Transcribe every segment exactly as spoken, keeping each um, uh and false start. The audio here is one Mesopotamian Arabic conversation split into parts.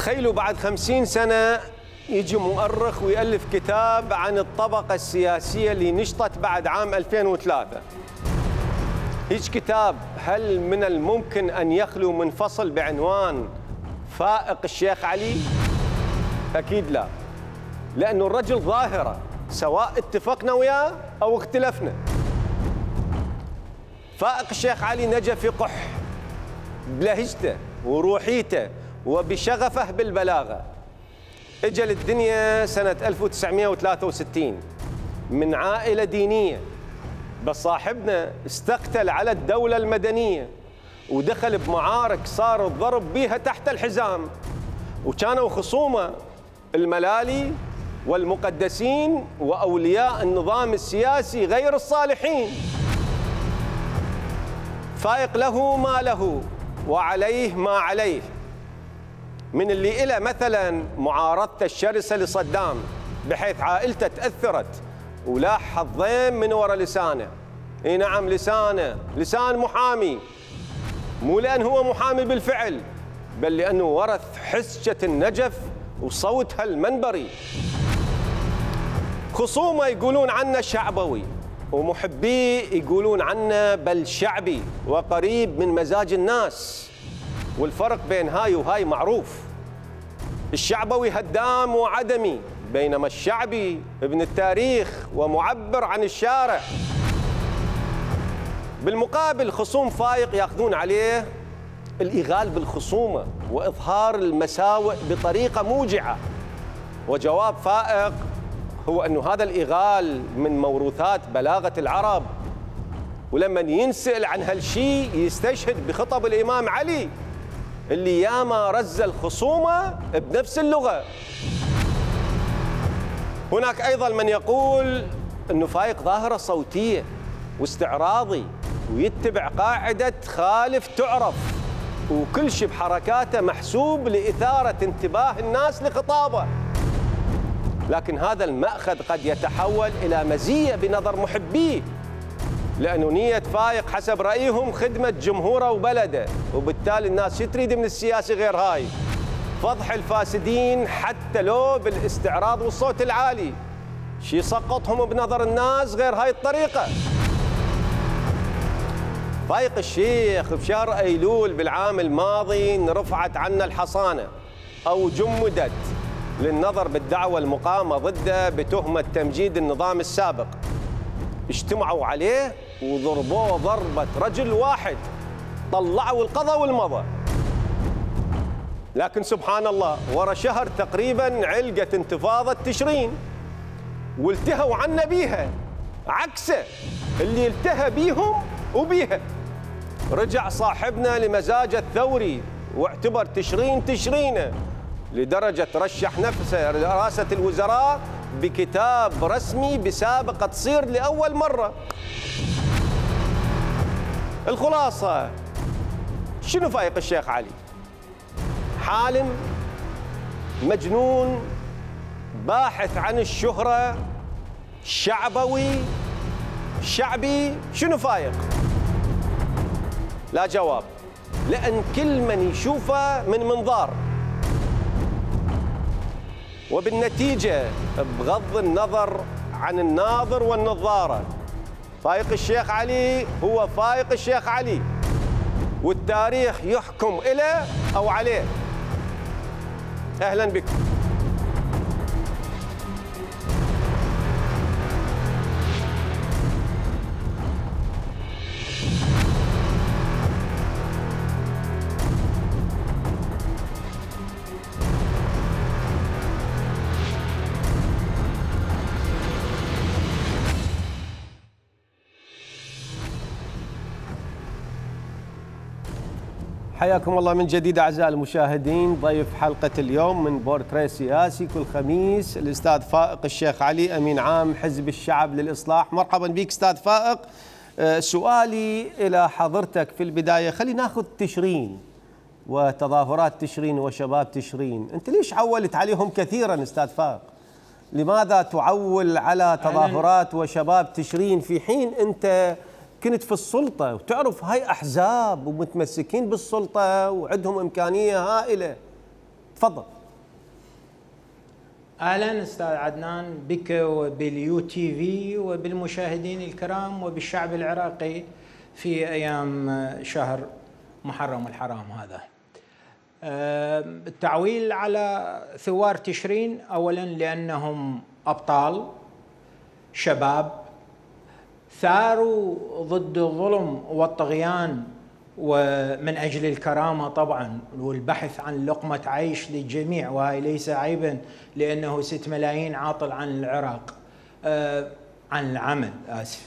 تخيلوا بعد خمسين سنة يجي مؤرخ ويألف كتاب عن الطبقة السياسية اللي نشطت بعد عام ألفين وثلاثة. هيج كتاب هل من الممكن أن يخلو من فصل بعنوان فائق الشيخ علي؟ أكيد لا، لأنه الرجل ظاهرة سواء اتفقنا وياه أو اختلفنا. فائق الشيخ علي نجا في قح بلهجته وروحيته وبشغفه بالبلاغة. اجى للدنيا سنة ألف وتسعمئة وثلاثة وستين من عائلة دينية، بس صاحبنا استقتل على الدولة المدنية ودخل بمعارك صار الضرب بيها تحت الحزام، وكانوا خصومه الملالي والمقدسين وأولياء النظام السياسي غير الصالحين. فائق له ما له وعليه ما عليه، من اللي إلى مثلا معارضته الشرسة لصدام بحيث عائلته تأثرت ولاح حظين من وراء لسانه. اي نعم لسانه، لسان محامي، مو لأن هو محامي بالفعل، بل لأنه ورث حسجة النجف وصوتها المنبري. خصومه يقولون عنه شعبوي ومحبيه يقولون عنه بل شعبي وقريب من مزاج الناس، والفرق بين هاي وهاي معروف. الشعبوي هدام وعدمي، بينما الشعبي ابن التاريخ ومعبر عن الشارع. بالمقابل خصوم فائق ياخذون عليه الإغال بالخصومة وإظهار المساوئ بطريقة موجعة، وجواب فائق هو أنه هذا الإغال من موروثات بلاغة العرب، ولما ينسأل عن هالشيء يستشهد بخطب الإمام علي اللي ياما رز الخصومة بنفس اللغة. هناك أيضا من يقول أنه فائق ظاهرة صوتية واستعراضي ويتبع قاعدة خالف تعرف، وكل شيء بحركاته محسوب لإثارة انتباه الناس لخطابه. لكن هذا المأخذ قد يتحول إلى مزية بنظر محبيه، لأنه نية فائق حسب رأيهم خدمة جمهوره وبلده، وبالتالي الناس شو تريد من السياسي غير هاي؟ فضح الفاسدين حتى لو بالاستعراض والصوت العالي. شي يسقطهم بنظر الناس غير هاي الطريقة؟ فائق الشيخ بشهر أيلول بالعام الماضي رفعت عنا الحصانة أو جمدت للنظر بالدعوة المقامة ضده بتهمة تمجيد النظام السابق. اجتمعوا عليه وضربوه ضربة رجل واحد، طلعوا القضاء والمضى. لكن سبحان الله ورا شهر تقريبا علقت انتفاضة تشرين والتهوا عنا بيها، عكسه اللي التهى بيهم وبيها. رجع صاحبنا لمزاجه الثوري واعتبر تشرين تشرينه، لدرجة رشح نفسه لرئاسة الوزراء بكتاب رسمي بسابقة تصير لأول مرة. الخلاصة شنو فائق الشيخ علي؟ حالم مجنون باحث عن الشهرة، شعبوي شعبي. شنو فائق؟ لا جواب، لأن كل من يشوفه من منظار، وبالنتيجة بغض النظر عن الناظر والنظارة فائق الشيخ علي هو فائق الشيخ علي، والتاريخ يحكم إليه أو عليه. أهلا بكم. حياكم الله من جديد أعزائي المشاهدين. ضيف حلقة اليوم من بورتريه سياسي كل خميس الأستاذ فائق الشيخ علي، أمين عام حزب الشعب للإصلاح. مرحبا بك أستاذ فائق. سؤالي إلى حضرتك في البداية، خلي ناخذ تشرين وتظاهرات تشرين وشباب تشرين. أنت ليش عولت عليهم كثيرا أستاذ فائق؟ لماذا تعول على تظاهرات وشباب تشرين في حين أنت كنت في السلطة وتعرف هاي أحزاب ومتمسكين بالسلطة وعندهم إمكانية هائلة؟ تفضل. اهلا استاذ عدنان بك وباليو تي في وبالمشاهدين الكرام وبالشعب العراقي في ايام شهر محرم الحرام هذا. التعويل على ثوار تشرين اولا لانهم ابطال شباب ثاروا ضد الظلم والطغيان ومن أجل الكرامة طبعا والبحث عن لقمة عيش للجميع، وهي ليس عيبا لأنه ست ملايين عاطل عن العراق آه عن العمل آسف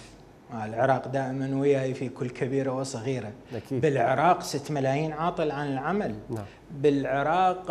العراق دائما وياي في كل كبيرة وصغيرة. أكيد. بالعراق ست ملايين عاطل عن العمل. نعم. بالعراق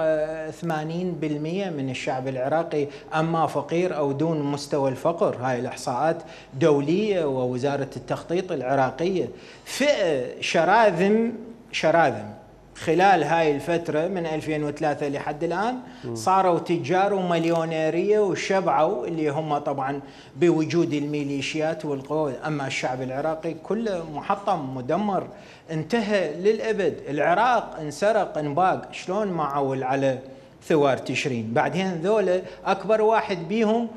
ثمانين بالمئة من الشعب العراقي أما فقير أو دون مستوى الفقر، هاي الإحصاءات دولية ووزارة التخطيط العراقية. فئة شراذم شراذم خلال هاي الفترة من ألفين وثلاثة لحد الآن صاروا تجار ومليونيرية وشبعوا اللي هم طبعا بوجود الميليشيات والقوى. أما الشعب العراقي كله محطم مدمر انتهى للأبد. العراق انسرق انباق. شلون ما عول على ثوار تشرين؟ بعدين ذولا أكبر واحد بيهم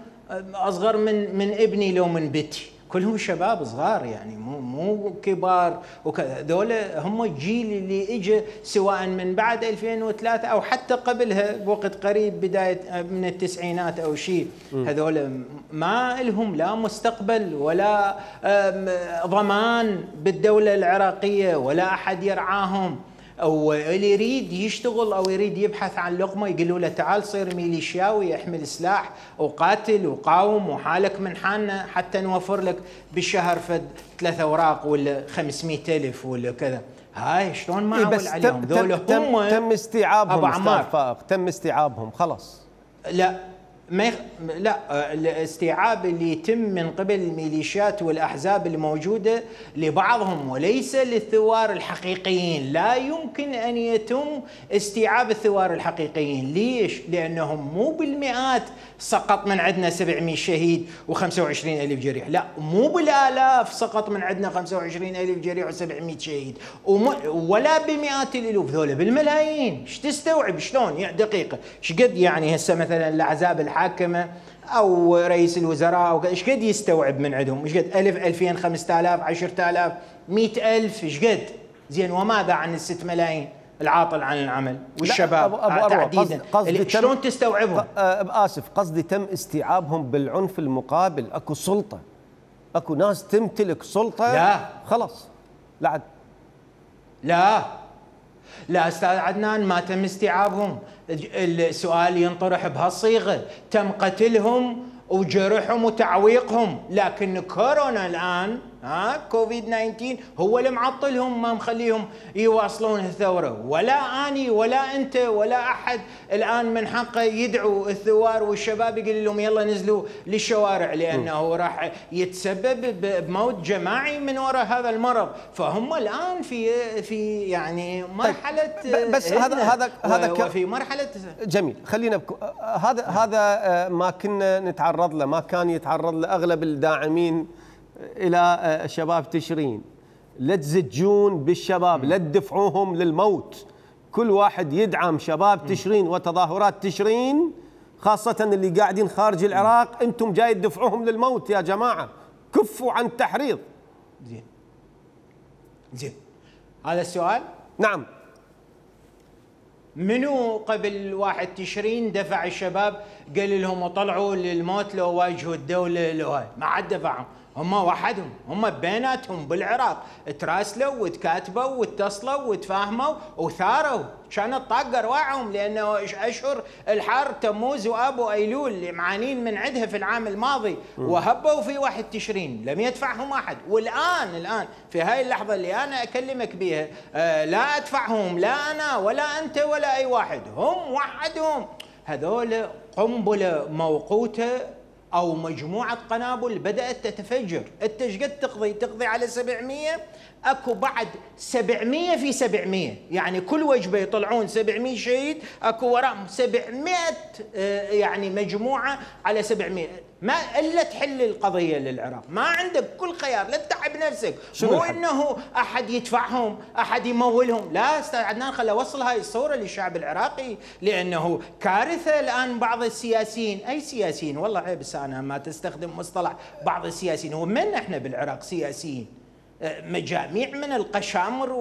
أصغر من من ابني لو من بتي، كلهم شباب صغار يعني مو مو كبار وكذا. ذولا هم الجيل اللي اجى سواء من بعد ألفين وثلاثة او حتى قبلها بوقت قريب بدايه من التسعينات او شيء. هذولا ما لهم لا مستقبل ولا ضمان بالدوله العراقيه ولا احد يرعاهم، او اللي يريد يشتغل او يريد يبحث عن لقمه يقولوا له تعال صير ميليشياوي احمل سلاح وقاتل وقاوم وحالك من حالنا حتى نوفر لك بالشهر فد ثلاث اوراق ولا خمسمئة ألف ولا كذا. هاي شلون ما عول عليهم ذولا؟ هم تم استيعابهم استاذ فائق، تم استيعابهم خلص. لا ما يخ... لا الاستيعاب اللي يتم من قبل الميليشيات والاحزاب الموجوده لبعضهم وليس للثوار الحقيقيين. لا يمكن ان يتم استيعاب الثوار الحقيقيين. ليش؟ لانهم مو بالمئات سقط من عندنا سبعمئة شهيد وخمسة وعشرين ألف جريح، لا مو بالالاف سقط من عندنا خمسة وعشرين ألف جريح وسبعمئة شهيد وم... ولا بمئات الالوف، ذولا بالملايين. ايش تستوعب؟ شلون يعني دقيقه ايش قد يعني هسه مثلا الاحزاب الحاكمه او رئيس الوزراء او ايش قد يستوعب من عندهم؟ ايش قد؟ ألف ألفين خمسة آلاف عشرة آلاف مئة ألف ايش قد؟ زين وماذا عن الست ملايين العاطل عن العمل والشباب أبو أبو تحديدا؟ قصدي شلون تستوعبهم؟ اسف قصدي تم استيعابهم بالعنف المقابل. اكو سلطه، اكو ناس تمتلك سلطه. لا خلاص لا عد. لا لا استاذ عدنان ما تم استيعابهم. السؤال ينطرح بهالصيغه، تم قتلهم وجرحهم وتعويقهم، لكن كورونا الان ها كوفيد تسعة عشر هو اللي معطلهم ما مخليهم يواصلون الثوره. ولا اني ولا انت ولا احد الان من حقه يدعو الثوار والشباب يقول لهم يلا نزلوا للشوارع، لانه راح يتسبب بموت جماعي من وراء هذا المرض. فهم الان في في يعني مرحله بس هذا هذا هذا في مرحله جميل. خلينا بكو هذا هذا ما كنا نتعرض له، ما كان يتعرض له اغلب الداعمين الى شباب تشرين. لا تزجون بالشباب، لا تدفعوهم للموت. كل واحد يدعم شباب تشرين وتظاهرات تشرين، خاصة اللي قاعدين خارج العراق. انتم جاي تدفعوهم للموت يا جماعة، كفوا عن التحريض. زين زين هذا السؤال. نعم. منو قبل واحد تشرين دفع الشباب قال لهم طلعوا للموت لو واجهوا الدولة لو هاي؟ ما عاد دفعهم، هم وحدهم، هم بيناتهم بالعراق تراسلوا وتكاتبوا واتصلوا وتفاهموا وثاروا. كانت طاقه رواعهم لانه اشهر الحر تموز واب وايلول اللي معانين من عندها في العام الماضي وهبوا في واحد تشرين لم يدفعهم احد. والان الان في هاي اللحظه اللي انا اكلمك بها آه لا ادفعهم لا انا ولا انت ولا اي واحد، هم وحدهم. هذول قنبله موقوته او مجموعه قنابل بدات تتفجر. انت ايش قد تقضي؟ تقضي على سبعمئة، اكو بعد سبعمئة في سبعمئة، يعني كل وجبه يطلعون سبعمئة شهيد، اكو وراهم سبعمئة يعني مجموعه على سبعمئة. ما الا تحل القضيه للعراق، ما عندك كل خيار، لا تتعب نفسك، مو انه احد يدفعهم، احد يمولهم، لا استاذ عدنان خل اوصل هاي الصوره للشعب العراقي، لانه كارثه الان بعض السياسيين، اي سياسيين والله عيب انا ما تستخدم مصطلح بعض السياسيين، ومن احنا بالعراق سياسيين؟ مجاميع من القشامر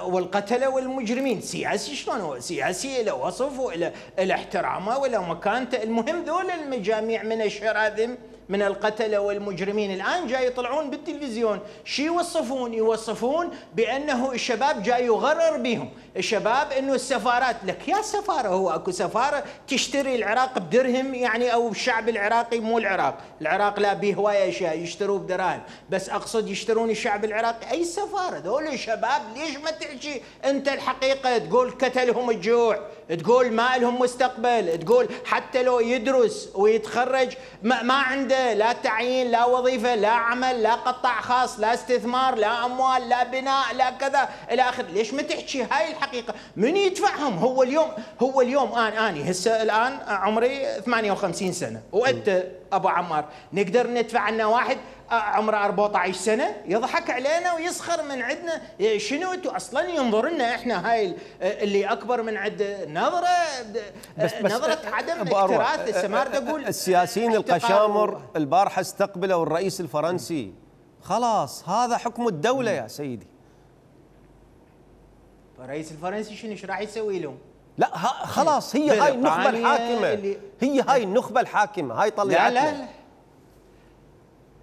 والقتله والمجرمين، سياسي شلون هو؟ سياسي له وصف وله احترامه وله مكانته، المهم ذول المجاميع من الشراذم من القتله والمجرمين الان جاي يطلعون بالتلفزيون، شي يوصفون؟ يوصفون بانه الشباب جاي يغرر بهم، الشباب انه السفارات، لك يا سفاره هو اكو سفاره تشتري العراق بدرهم يعني، او الشعب العراقي مو العراق، العراق لا به هوايه اشياء يشتروه بدراهم، بس اقصد يشترون الشعب العراقي، اي سفاره ذول الشباب ليش ما تحكي انت الحقيقه؟ تقول قتلهم الجوع، تقول ما لهم مستقبل، تقول حتى لو يدرس ويتخرج ما, ما عنده لا تعيين لا وظيفه لا عمل لا قطاع خاص لا استثمار لا اموال لا بناء لا كذا الى اخره، ليش ما تحكي هاي الحقيقه؟ من يدفعهم؟ هو اليوم هو اليوم انا اني هسه الان عمري ثمانية وخمسين سنه، وانت ابو عمار نقدر ندفع عنا واحد عمره أربعة عشر سنه يضحك علينا ويسخر من عندنا، شنو انتم اصلا ينظر لنا احنا هاي اللي اكبر من عند نظره بس بس نظره عدم اكتراث السمار. تقول السياسيين القشامر البارحه استقبلوا الرئيس الفرنسي، خلاص هذا حكم الدوله يا سيدي. الرئيس الفرنسي شنو ايش راح يسوي لهم؟ لا خلاص هي هاي النخبه الحاكمه، هي هاي النخبه الحاكمه هاي طلعتنا. لا لا لا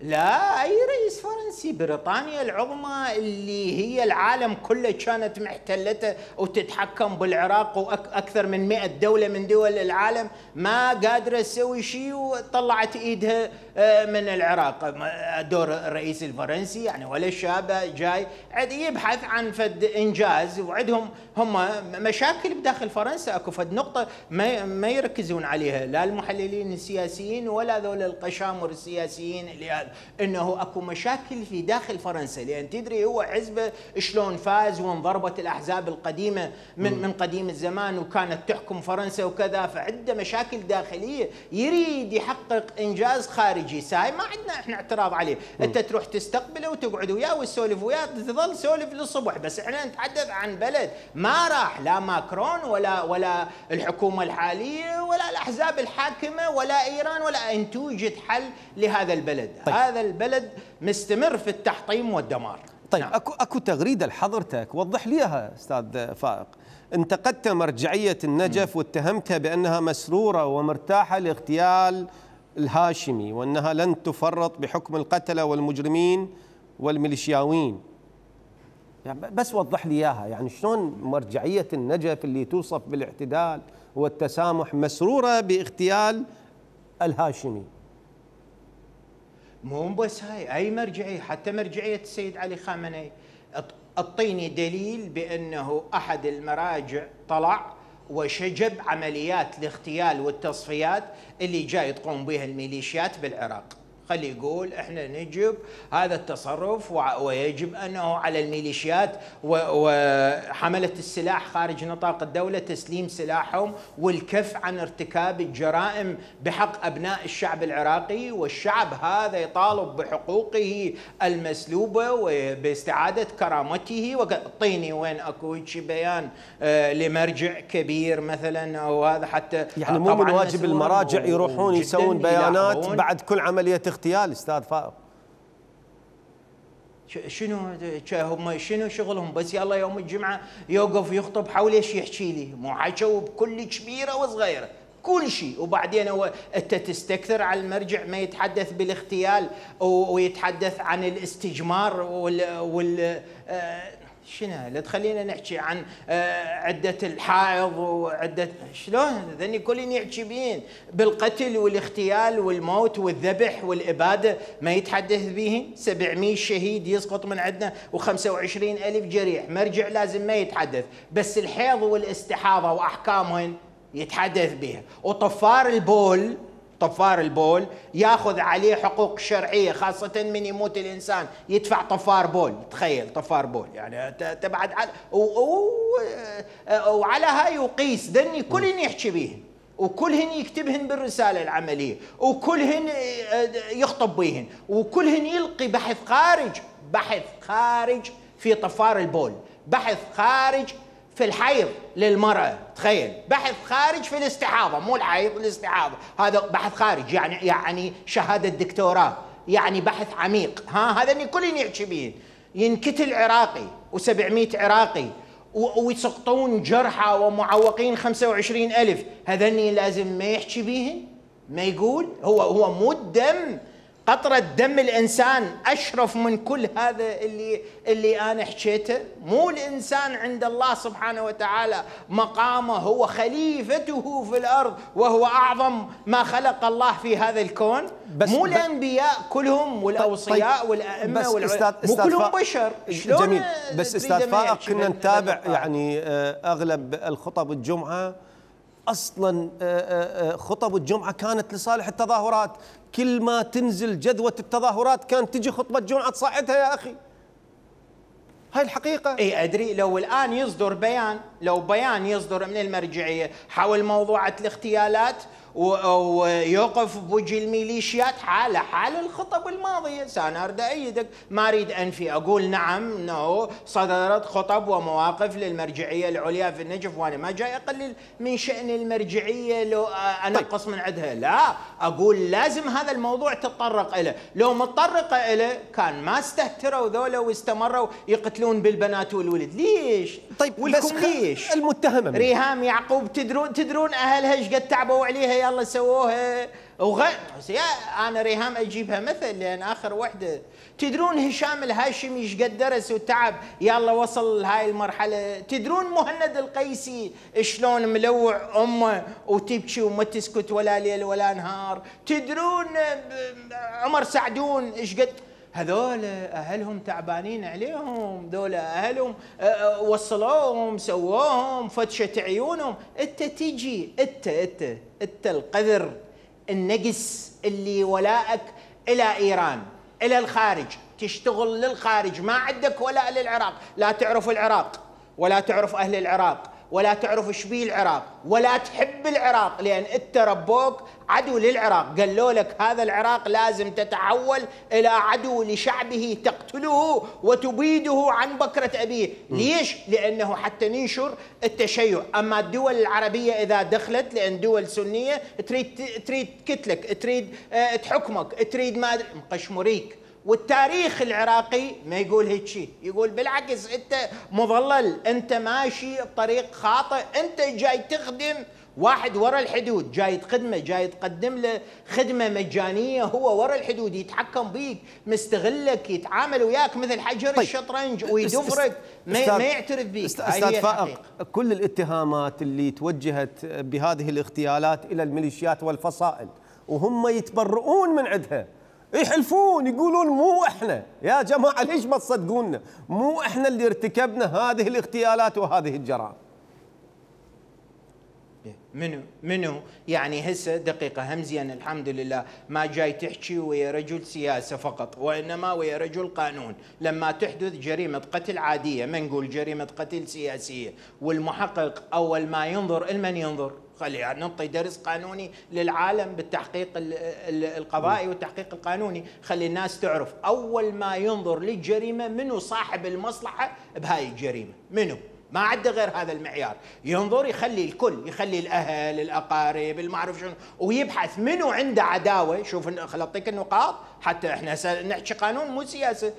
لا اي رئيس فرنسي، بريطانيا العظمى اللي هي العالم كله كانت محتلته وتتحكم بالعراق واكثر من مئة دوله من دول العالم ما قادره تسوي شيء وطلعت ايدها من العراق. دور الرئيس الفرنسي يعني ولا الشاب جاي يبحث عن فد انجاز، وعندهم هم مشاكل بداخل فرنسا، اكو فد نقطه ما ما يركزون عليها لا المحللين السياسيين ولا ذول القشامر السياسيين اللي انه اكو مشاكل في داخل فرنسا، لان تدري هو حزبه شلون فاز وانضربت الاحزاب القديمه من م. من قديم الزمان وكانت تحكم فرنسا وكذا، فعنده مشاكل داخليه يريد يحقق انجاز خارجي، ساي ما عندنا احنا اعتراض عليه، م. انت تروح تستقبله وتقعد وياه وتسولف وياه تظل سولف للصبح، بس احنا نتحدث عن بلد ما راح لا ماكرون ولا ولا الحكومه الحاليه ولا الاحزاب الحاكمه ولا ايران ولا ان توجد حل لهذا البلد. طيب. هذا البلد مستمر في التحطيم والدمار. طيب نعم. اكو اكو تغريده لحضرتك وضح لي اياها استاذ فائق، انتقدت مرجعيه النجف م. واتهمتها بانها مسروره ومرتاحه لاغتيال الهاشمي وانها لن تفرط بحكم القتله والمجرمين والميليشياويين. يعني بس وضح لي اياها، يعني شلون مرجعيه النجف اللي توصف بالاعتدال والتسامح مسروره باغتيال الهاشمي؟ مو بس هاي، اي مرجعيه، حتى مرجعيه السيد علي خامنئي، اعطيني دليل بانه احد المراجع طلع وشجب عمليات الاغتيال والتصفيات اللي جاي تقوم بها الميليشيات بالعراق. خلي يقول احنا نجب هذا التصرف ويجب انه على الميليشيات وحمله السلاح خارج نطاق الدوله تسليم سلاحهم والكف عن ارتكاب الجرائم بحق ابناء الشعب العراقي، والشعب هذا يطالب بحقوقه المسلوبه وباستعاده كرامته. اعطيني وين اكو شي بيان آه لمرجع كبير مثلا او هذا، حتى يعني مو من واجب المراجع يروحون يسوون بيانات بعد كل عمليه اغتيال استاذ فائق؟ شنو هم شنو شغلهم؟ بس يلا يوم الجمعه يوقف يخطب حول ايش يحكي لي؟ مو حكوا بكل كبيره وصغيره كل شيء، وبعدين هو انت تستكثر على المرجع ما يتحدث بالاغتيال ويتحدث عن الاستجمار وال, وال... شنو؟ لا تخلينا نحكي عن عدة الحائض وعدة شلون ذني كلين يحكي بين بالقتل والاغتيال والموت والذبح والإبادة ما يتحدث بهن. سبعمئة شهيد يسقط من عندنا وخمسة وعشرين ألف جريح، مرجع لازم ما يتحدث، بس الحيض والاستحاضة وأحكامهن يتحدث بها. وطفار البول طفار البول ياخذ عليه حقوق شرعيه، خاصه من يموت الانسان يدفع طفار بول. تخيل طفار بول يعني تبعد على وعلى هاي وقيس ذني كلين يحكي بيه وكلهن يكتبهن بالرسالة العملية، وكلهن يخطب بيهن، وكلهن يلقي بحث خارج، بحث خارج في طفار البول، بحث خارج في الحيض للمرأة، تخيل، بحث خارج في الاستحاضة، مو الحيض، الاستحاضة، هذا بحث خارج، يعني يعني شهادة دكتوراه، يعني بحث عميق، ها هذا كلهن يحكي بيهن. ينكتل عراقي وسبعمئة عراقي ويسقطون جرحى ومعوقين خمسة وعشرين ألف، هذني لازم ما يحكي بيهن، ما يقول. هو هو مو الدم، قطرة دم الإنسان أشرف من كل هذا اللي اللي أنا حكيته. مو الإنسان عند الله سبحانه وتعالى مقامه هو خليفته في الأرض، وهو أعظم ما خلق الله في هذا الكون. مو الأنبياء كلهم والأوصياء طيب والأئمة والعلماء مو كلهم بشر. جميل، بس أستاذ فائق كنا نتابع يعني أغلب الخطب الجمعة، أصلاً خطب الجمعة كانت لصالح التظاهرات، كل ما تنزل جذوة التظاهرات كانت تجي خطبة جمعة تصعدها يا أخي. هاي الحقيقة. اي ادري، لو الآن يصدر بيان، لو بيان يصدر من المرجعية حول موضوعة الاغتيالات ويوقف بوجه الميليشيات حالة حال الخطب الماضية، أنا أريد أيدك، ما أريد أنفي، أقول نعم أنه صدرت خطب ومواقف للمرجعية العليا في النجف، وأنا ما جاي أقلل من شأن المرجعية لو أنقص طيب. من عندها، لا، أقول لازم هذا الموضوع تطرق إليه، لو متطرقة إليه كان ما استهتروا ذولا واستمروا يقتلون بالبنات والولد. ليش؟ طيب ولكم ليش؟ المتهمة ريهام يعقوب، تدرون تدرون أهلها ايش قد تعبوا عليها، يلا سووها وغ... يا انا ريهام اجيبها مثل لان اخر وحده. تدرون هشام الهاشمي ايش قد درس وتعب يلا وصل لهاي المرحله؟ تدرون مهند القيسي شلون ملوع امه وتبكي وما تسكت ولا ليل ولا نهار؟ تدرون عمر سعدون ايش قد؟ هذول اهلهم تعبانين عليهم، ذول اهلهم وصلوهم سووهم فتشة عيونهم. انت تجي انت انت انت القذر النقص اللي ولائك الى ايران، الى الخارج، تشتغل للخارج، ما عندك ولاء للعراق، لا تعرف العراق ولا تعرف اهل العراق ولا تعرف ايش بيه العراق ولا تحب العراق، لان انت ربوك عدو للعراق، قالوا لك هذا العراق لازم تتحول الى عدو لشعبه تقتله وتبيده عن بكرة ابيه. ليش؟ لانه حتى ننشر التشيع. اما الدول العربية اذا دخلت، لان دول سنية تريد تريد تقتلك، تريد تحكمك، تريد ما ادري مقشمريك. والتاريخ العراقي ما يقول هيك شيء، يقول بالعكس انت مضلل، انت ماشي بطريق خاطئ، انت جاي تخدم واحد ورا الحدود، جاي تخدمه، جاي تقدم له خدمه مجانيه، هو ورا الحدود يتحكم بيك، مستغلك، يتعامل وياك مثل حجر طيب. الشطرنج ويدفرك، ما, ما يعترف بيك. استاذ فائق، كل الاتهامات اللي توجهت بهذه الاغتيالات الى الميليشيات والفصائل وهم يتبرؤون من عندها، يحلفون يقولون مو احنا يا جماعه، ليش ما تصدقونا؟ مو احنا اللي ارتكبنا هذه الاغتيالات وهذه الجرائم. منو منو يعني هسه دقيقه همزيان، الحمد لله ما جاي تحكي ويا رجل سياسه فقط، وانما ويا رجل قانون. لما تحدث جريمه قتل عاديه، ما نقول جريمه قتل سياسيه، والمحقق اول ما ينظر المن ينظر، خلي يعني نعطي درس قانوني للعالم بالتحقيق القضائي والتحقيق القانوني، خلي الناس تعرف اول ما ينظر للجريمه منو صاحب المصلحه بهاي الجريمه، منو؟ ما عنده غير هذا المعيار، ينظر يخلي الكل، يخلي الاهل، الاقارب، المعرف شنو، ويبحث منو عنده عداوه. شوف خل اعطيك النقاط حتى احنا نحكي قانون مو سياسه.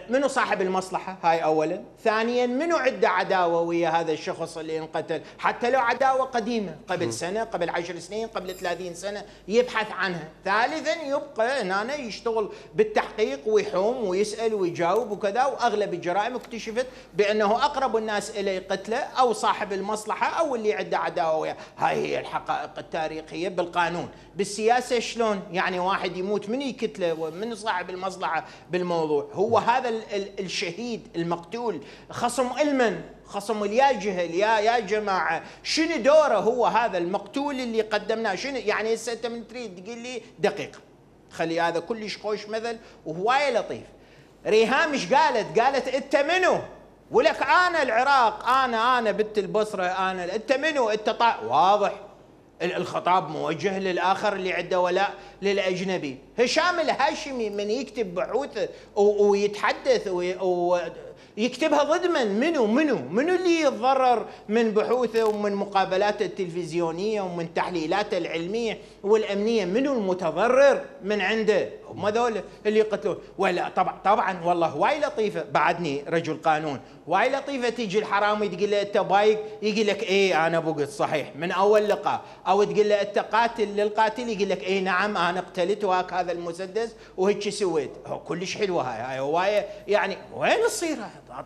منو صاحب المصلحه؟ هاي اولا. ثانيا منو عنده عداوه ويا هذا الشخص اللي انقتل، حتى لو عداوه قديمه قبل سنه، قبل عشر سنين، قبل ثلاثين سنه، يبحث عنها. ثالثا يبقى هنا يشتغل بالتحقيق ويحوم ويسال ويجاوب وكذا، واغلب الجرائم اكتشفت بانه اقرب الناس اليه قتله او صاحب المصلحه او اللي عنده عداوه وياه. هاي هي الحقائق التاريخيه بالقانون. بالسياسه شلون؟ يعني واحد يموت من يقتله ومن صاحب المصلحه بالموضوع؟ هو هذا الشهيد المقتول خصم المن، خصم اليا جهل، يا يا جماعه شنو دوره هو هذا المقتول اللي قدمناه؟ شنو يعني هسه انت من تريد تقول لي دقيقه، خلي هذا كلش خوش مثل وهوايه لطيف. ريهام ايش قالت؟ قالت انت منو؟ ولك انا العراق، انا انا بنت البصره، انا انت منو؟ انت طا... واضح الخطاب موجه للآخر اللي عنده ولاء للأجنبي. هشام الهاشمي من يكتب بحوثه ويتحدث ويكتبها ضد من؟ منو منو منو اللي يتضرر من بحوثه ومن مقابلاته التلفزيونية ومن تحليلاته العلمية والأمنية؟ منو المتضرر من عنده؟ هم ذول اللي يقتلون. ولا طبعا طبعا والله هواي لطيفة، بعدني رجل قانون، هواي لطيفة تيجي الحرامي تقول له انت بايق، يقول لك ايه انا بقت صحيح من اول لقاء، او تقول له انت قاتل للقاتل يقول لك ايه نعم انا قتلت وهاك هذا المسدس وهيك سويت. كلش حلوه هاي هاي هوايه يعني. وين تصير؟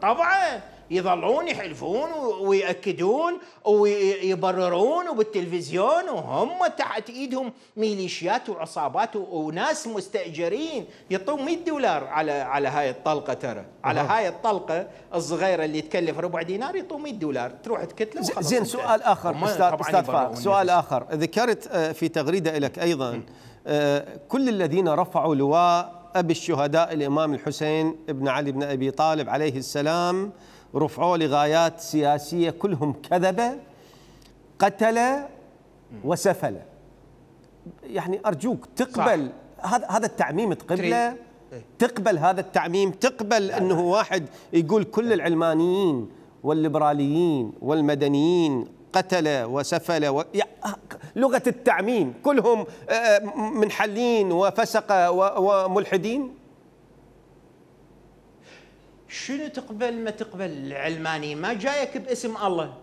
طبعا يظلون يحلفون ويأكدون ويبررون وبالتلفزيون وهم تحت ايدهم ميليشيات وعصابات وناس مستأجرين يعطون مئة دولار على على هاي الطلقه، ترى على هاي الطلقه الصغيره اللي تكلف ربع دينار يعطون مئة دولار تروح تكتله وخلاص. زين سؤال اخر استاذ استاذ فارق، سؤال اخر ذكرت في تغريده لك ايضا كل الذين رفعوا لواء ابي الشهداء الامام الحسين بن علي بن ابي طالب عليه السلام رفعوه لغايات سياسية كلهم كذبة قتلة وسفلة. يعني أرجوك تقبل هذا هذا التعميم؟ تقبله؟ تقبل هذا التعميم؟ تقبل أنه واحد يقول كل العلمانيين والليبراليين والمدنيين قتلة وسفلة و... لغة التعميم كلهم منحلين وفسقة وملحدين؟ شنو تقبل ما تقبل؟ العلماني ما جايك باسم الله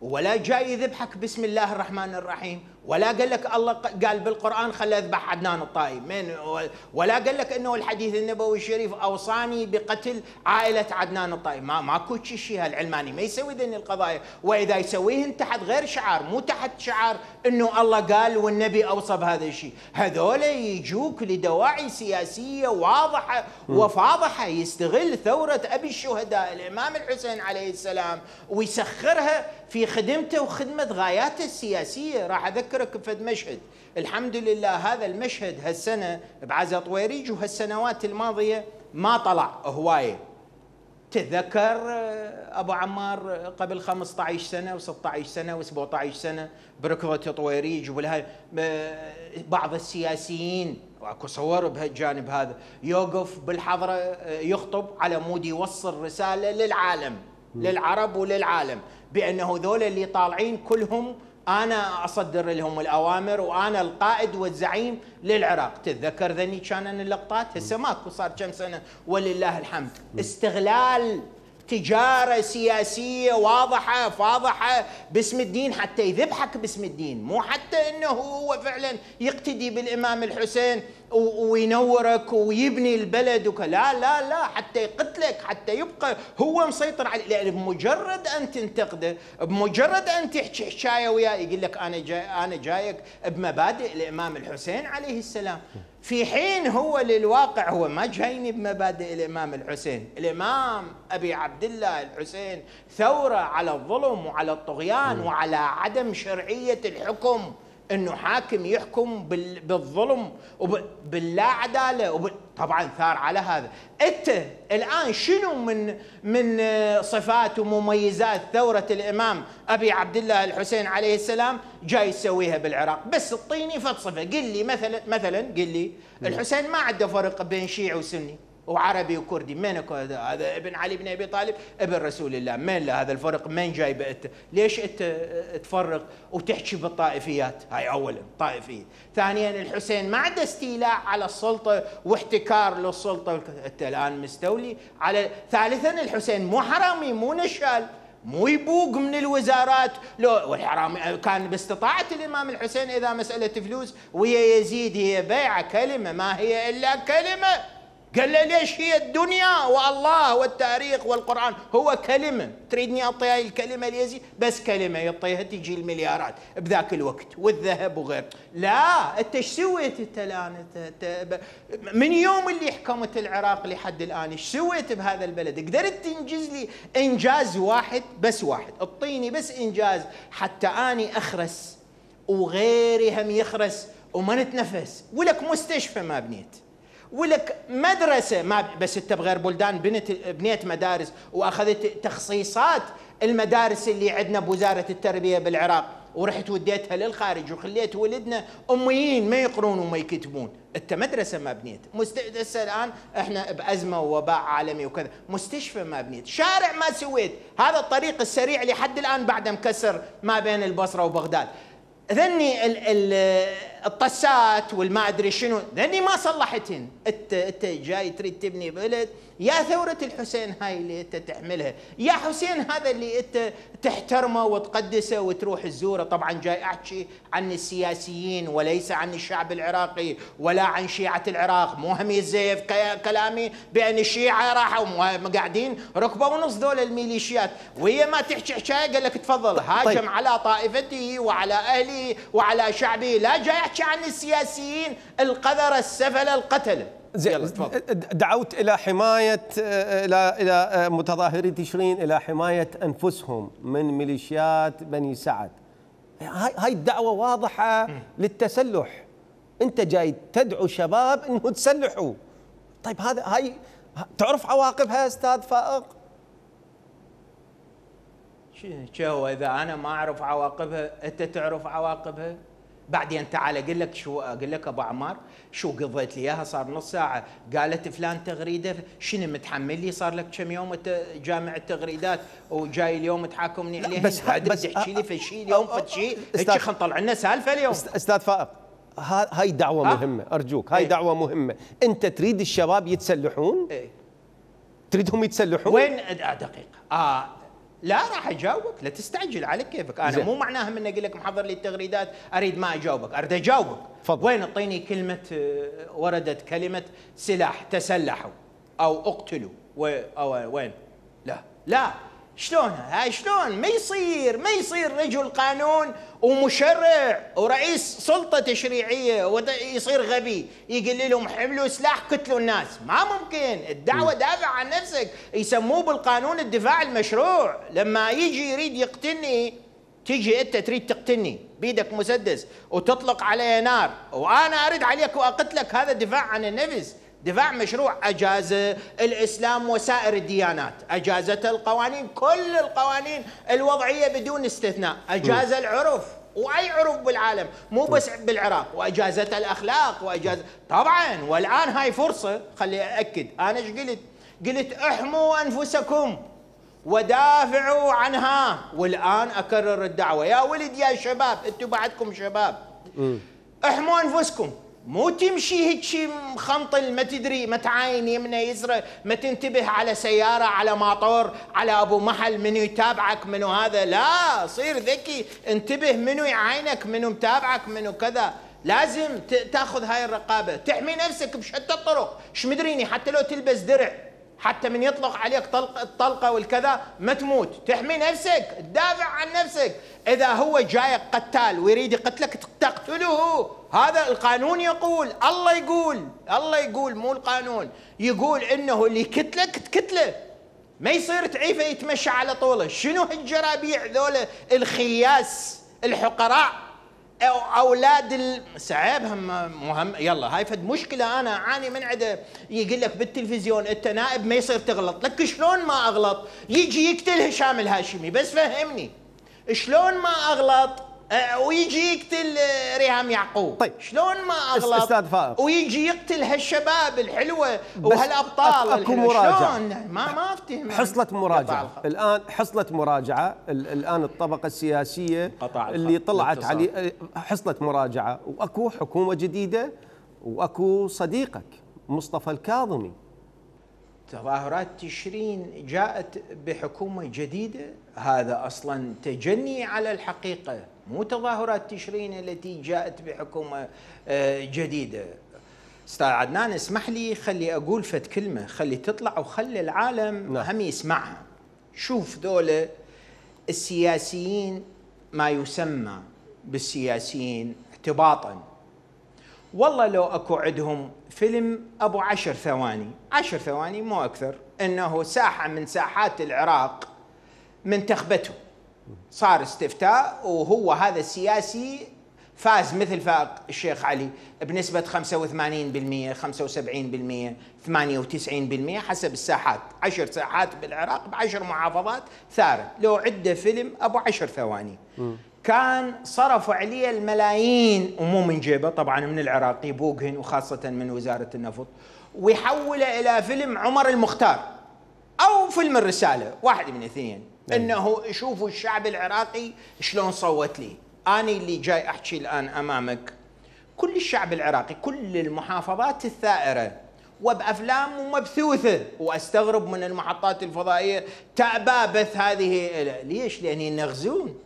ولا جاي يذبحك بسم الله الرحمن الرحيم، ولا قال لك الله قال بالقرآن خلى اذبح عدنان الطائي من، ولا قال لك انه الحديث النبوي الشريف اوصاني بقتل عائلة عدنان الطائي. ما ماكو شيء. هالعلماني ما يسوي ذني القضايا، واذا يسويهن تحت غير شعار، مو تحت شعار انه الله قال والنبي اوصى بهذا الشيء. هذول يجوك لدواعي سياسية واضحة وفاضحة، يستغل ثورة ابي الشهداء الامام الحسين عليه السلام ويسخرها في خدمته وخدمة غاياته السياسية. راح أذكرك بفد مشهد، الحمد لله هذا المشهد هالسنة بعزا طويريج وهالسنوات الماضية ما طلع هواية. تتذكر أبو عمار قبل خمسة عشر سنة وستة عشر سنة وسبعة عشر سنة بركضة طويريج وبالهاي بعض السياسيين واكو صور بهالجانب هذا يوقف بالحضرة يخطب على مود يوصل رسالة للعالم للعرب وللعالم بأنه ذول اللي طالعين كلهم أنا أصدر لهم الأوامر وأنا القائد والزعيم للعراق. تتذكر ذني كان اللقطات؟ هسه ماكو صار كم سنة ولله الحمد. استغلال تجارة سياسية واضحة فاضحة باسم الدين حتى يذبحك باسم الدين، مو حتى أنه هو فعلا يقتدي بالإمام الحسين وينورك ويبني البلد وك... لا لا لا حتى يقتلك، حتى يبقى هو مسيطر عليه. لأن بمجرد أن تنتقده، بمجرد أن تحكي حكاية وياه يقول لك أنا جاي أنا جايك بمبادئ الإمام الحسين عليه السلام، في حين هو للواقع هو ما جايني بمبادئ الإمام الحسين. الإمام أبي عبد الله الحسين ثورة على الظلم وعلى الطغيان وعلى عدم شرعية الحكم، انه حاكم يحكم بالظلم وباللا عداله وب... طبعا ثار على هذا. انت الان شنو من من صفات ومميزات ثوره الامام ابي عبد الله الحسين عليه السلام جاي يسويها بالعراق؟ بس اعطيني فلسفه، قل لي مثلا مثلا قل لي الحسين ما عنده فرق بين شيعي وسني وعربي وكردي، من هذا ابن علي بن ابي طالب ابن رسول الله، من له هذا الفرق؟ من جايبه انت؟ ليش انت تفرق وتحكي بالطائفيات؟ هاي اولا طائفيه. ثانيا الحسين ما عنده استيلاء على السلطه واحتكار للسلطه، انت الان مستولي على. ثالثا الحسين مو حرامي مو نشال مو يبوق من الوزارات، لو والحرام كان باستطاعة الإمام الحسين إذا مسألة فلوس ويا يزيد هي بيعة كلمة ما هي إلا كلمة. قال له ليش هي الدنيا والله والتاريخ والقرآن هو كلمة، تريدني أعطيها الكلمة ليزيد؟ بس كلمة يعطيها تجي المليارات بذاك الوقت والذهب وغير. لا أنت ايش سويت أنت الآن؟ من يوم اللي حكمت العراق لحد الآن ايش سويت بهذا البلد؟ قدرت تنجز لي إنجاز واحد بس واحد؟ اعطيني بس إنجاز حتى أني أخرس وغيري هم يخرس وما نتنفس. ولك مستشفى ما بنيت، ولك مدرسة ما بس انت بغير بلدان بنت بنيت مدارس واخذت تخصيصات المدارس اللي عندنا بوزارة التربية بالعراق ورحت وديتها للخارج وخليت ولدنا اميين ما يقرون وما يكتبون. انت مدرسه ما بنيت، هسه الان احنا بازمه ووباء عالمي وكذا، مستشفى ما بنيت، شارع ما سويت، هذا الطريق السريع لحد الان بعده مكسر ما بين البصره وبغداد. ذني الطسات والما ادري شنو، ذني ما صلحتهن. انت انت جاي تريد تبني بلد، يا ثوره الحسين هاي اللي انت تحملها، يا حسين هذا اللي انت تحترمه وتقدسه وتروح تزوره. طبعا جاي احكي عن السياسيين وليس عن الشعب العراقي ولا عن شيعه العراق. مو هم يزيف كلامي بان الشيعه راحوا قاعدين ركبه ونص دول الميليشيات، وهي ما تحكي حكايه قال لك تفضل هاجم طيب. على طائفته وعلى اهله وعلى شعبه، لا جاي احكي عن السياسيين القذره السفله القتله. زين، دعوت الى حمايه الى الى متظاهري تشرين الى حمايه انفسهم من ميليشيات بني سعد. هاي هاي الدعوه واضحه للتسلح. انت جاي تدعو شباب انه تسلحوا. طيب هذا هاي تعرف عواقبها استاذ فائق؟ شو اذا انا ما اعرف عواقبها انت تعرف عواقبها؟ بعدين تعال اقول لك شو اقول لك ابو عمار شو قضيت لي اياها صار نص ساعه. قالت فلان تغريده، شنو متحمل لي صار لك كم يوم جامع التغريدات وجاي اليوم تحاكمني عليها؟ بس بس تحكي لي في شيء اليوم في شيء هيك خلينا نطلع لنا سالفه اليوم. استاذ فائق هاي دعوه مهمه ارجوك، هاي ايه؟ دعوه مهمه. انت تريد الشباب يتسلحون؟ ايه؟ تريدهم يتسلحون؟ وين دقيقه اه لا راح اجاوبك، لا تستعجل على كيفك. انا زي. مو معناها من اقول لك محضر لي التغريدات اريد ما اجاوبك، اريد اجاوبك. فضل. وين اعطيني كلمه وردت كلمه سلاح تسلحوا او اقتلوا أو وين؟ لا لا شلون هاي شلون؟ ما يصير ما يصير رجل قانون ومشرع ورئيس سلطه تشريعيه ويصير غبي يقول لهم حملوا سلاح قتلوا الناس. ما ممكن. الدعوه دافع عن نفسك، يسموه بالقانون الدفاع المشروع. لما يجي يريد يقتلني تيجي انت تريد تقتلني بيدك مسدس وتطلق علي نار وانا ارد عليك واقتلك، هذا دفاع عن النفس، دفاع مشروع. أجاز الإسلام وسائر الديانات، أجازت القوانين، كل القوانين الوضعية بدون استثناء، أجاز العرف وأي عرف بالعالم مو بس بالعراق، وأجازت الأخلاق وأجاز طبعا. والآن هاي فرصة، خلي أأكد أنا ايش قلت؟ قلت احموا أنفسكم ودافعوا عنها. والآن أكرر الدعوة يا ولد يا شباب، أنتم بعدكم شباب، احموا أنفسكم. مو تمشي هيك شيء مخنطل ما تدري ما تعاين يمنى يسرى، ما تنتبه على سيارة على ماطور على أبو محل منو يتابعك منو هذا. لا صير ذكي، انتبه منو يعاينك منو متابعك منو كذا. لازم تاخذ هاي الرقابة، تحمي نفسك بشتى الطرق. ايش مدريني حتى لو تلبس درع، حتى من يطلق عليك طلق الطلقة والكذا ما تموت، تحمي نفسك، تدافع عن نفسك. إذا هو جايك قتال ويريد يقتلك تقتله، هذا القانون يقول، الله يقول، الله يقول مو القانون، يقول إنه اللي يقتلك تقتله، ما يصير تعيفه يتمشى على طوله. شنو هالجرابيع ذولا الخياس الحقراء اولاد سعيبهم مهم. يلا هاي فد مشكله انا اعاني من عده. يقول لك بالتلفزيون انت نائب ما يصير تغلط، لك شلون ما اغلط؟ يجي يقتل هشام الهاشمي، بس فهمني شلون ما اغلط ويجي يقتل ريهام يعقوب. طيب شلون ما اغلط استاذ فائق ويجي يقتل هالشباب الحلوه وهالابطال اكو مراجعه. شلون ما ما افتهم. حصلة مراجعه الان، حصلة مراجعه الان الطبقه السياسيه اللي طلعت عليه حصلة مراجعه، واكو حكومه جديده واكو صديقك مصطفى الكاظمي. تظاهرات تشرين جاءت بحكومه جديده، هذا اصلا تجني على الحقيقه، مو تظاهرات تشرين التي جاءت بحكومه جديده. استاذ عدنان اسمح لي خلي اقول فد كلمه، خلي تطلع وخلي العالم هم يسمعها. شوف ذولا السياسيين ما يسمى بالسياسيين اعتباطا، والله لو اكو عندهم فيلم ابو عشر ثواني، عشر ثواني مو اكثر، انه ساحه من ساحات العراق منتخبته صار استفتاء وهو هذا السياسي فاز مثل فائق الشيخ علي بنسبة خمسة وثمانين بالمئة خمسة وسبعين بالمئة ثمانية وتسعين بالمئة حسب الساحات، عشر ساحات بالعراق بعشر محافظات ثارت، لو عده فيلم أبو عشر ثواني كان صرفوا عليه الملايين ومو من جيبه طبعا، من العراقي بوغهن وخاصة من وزارة النفط، ويحوله إلى فيلم عمر المختار أو فيلم الرسالة، واحد من الاثنين. إنه يشوفوا الشعب العراقي شلون صوت لي. أنا اللي جاي أحكي الآن أمامك كل الشعب العراقي، كل المحافظات الثائرة وبأفلام مبثوثة، وأستغرب من المحطات الفضائية تأبى بث هذه. ليش؟ لأن ينغزون